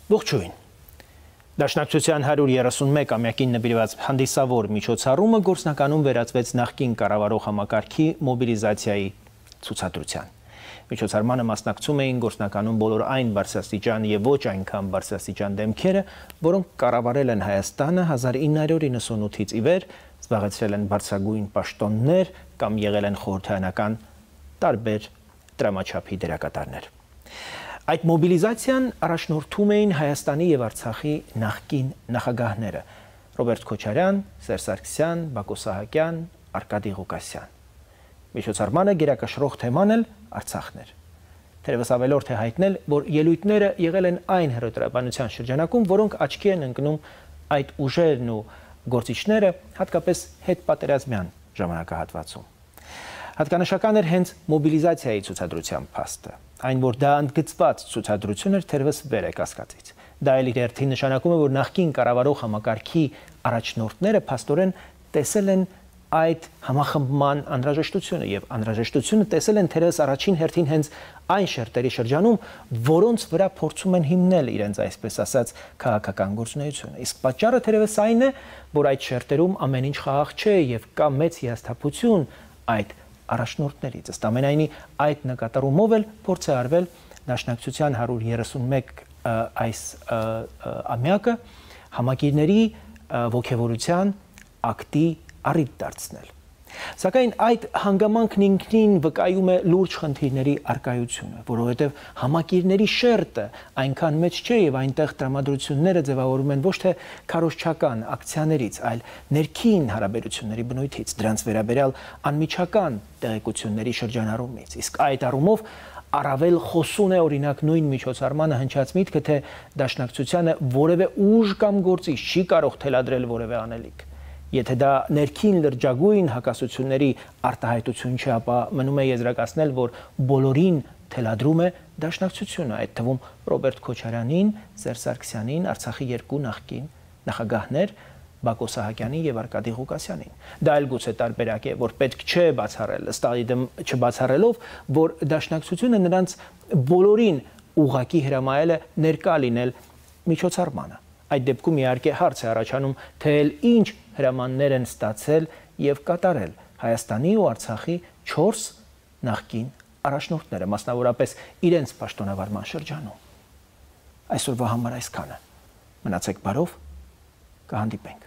Ողջույն։ Դաշնակցության 131-ամյակին նվիրված հանդիսավոր միջոցառումը գործնականում վերածվեց նախկին կառավարող համակարգի մոբիլիզացիայի ցուցադրության։ Միջոցառմանը մասնակցում էին գործնականում բոլոր այն բարձրաստիճան եւ ոչ այնքան բարձրաստիճան դեմքերը, որոնք կառավարել են Հայաստանը 1998-ից ի վեր, զբաղեցրել են բարձրագույն պաշտոններ կամ եղել են խորհրդարանական տարբեր դրամաչափի դերակատարներ։ Այդ մոբիլիզացիան առաջնորդում էին Հայաստանի եւ Արցախի նախկին նախագահները՝ Ռոբերտ Քոչարյան, Սերժ Սարգսյան, Բակո Սահակյան, Արկադի Ղուկասյան։ Միջոցառմանը գերակշռող թեման էլ Արցախն էր։ Թերևս ավելորդ է հայտնել, որ ելույթները եղել են այն հերոտրաբանության շրջանակում, որոնք աչքի են ընկնում այդ ուժերն ու գործիչները հատկապես հետպատերազմյան ժամանակահատվածում։ Հատկանշական էր հենց մոբիլիզացիայի ցուցադրության փաստը, այն որ դա ընդգծված ցուցադրություն էր թերևս վեր է կասկածից։ Դա էլ իր հերթին նշանակում է, որ նախկին կառավարող համակարգի առաջնորդները փաստորեն տեսել են այդ համախմբման անհրաժեշտությունը եւ անհրաժեշտությունը տեսել են թերևս առաջին հերթին հենց այն շերտերի շրջանում, որոնց վրա փորձում են հիմնել իրենց այսպես ասած քաղաքական գործունեությունը։ Իսկ պատճառը թերևս այն է, որ այդ շերտերում ամեն ինչ խաղաղ չէ եւ կա մեծ հիասթափություն այդ առաջնորդներից։ Ըստ ամենայնի այդ նկատառումով էլ փորձ է արվել Դաշնակցության 131 այս ամյակը համակիրների ոգևորության ակտի առիթ դարձնել։ Սակայն այդ հանգամանքն ինքնին վկայում է լուրջ խնդիրների առկայությունը, որովհետև համակիրների շերտը այնքան մեծ չէ եւ այնտեղ տրամադրությունները ձևավորում են ոչ թե քարոզչական ակցիաներից, այլ ներքին հարաբերությունների բնույթից, դրանց վերաբերյալ անմիջական տեղեկությունների շրջանառումից։ Իսկ այդ առումով առավել խոսուն է օրինակ նույն միջոցառմանը հնչած միտքը, թե Դաշնակցությանը որևէ ուժ կամ գործիչ չի կարող թելադրել որևէ անելիք։ Եթե դա ներքին լրջագույն հակասությունների արտահայտություն չէ, ապա մնում է եզրակացնել, որ բոլորին թելադրում է Դաշնակցությունը, այդ թվում Ռոբերտ Քոչարյանին, Սերժ Սարգսյանին, Արցախի երկու նախկին նախագահներ Բակո Սահակյանին եւ Արկադի Ղուկասյանին։ Դա էլ գուցե տարբերակ է, որ պետք չէ բացառել, ըստ այդմ չբացառելով, որ Դաշնակցությունը նրանց բոլորին ուղղակի հրամայել է ներկա լինել միջոցառմանը։ Այդ դեպքում իհարկե հարց է առաջանում, թե ինչ հրամաններ են ստացել եւ կատարել Հայաստանի ու Արցախի 4 նախկին առաջնորդները, մասնավորապես իրենց պաշտոնավարման շրջանում։ Այսօրվա համար այսքանը։ Մնացեք բարով, կհանդիպենք։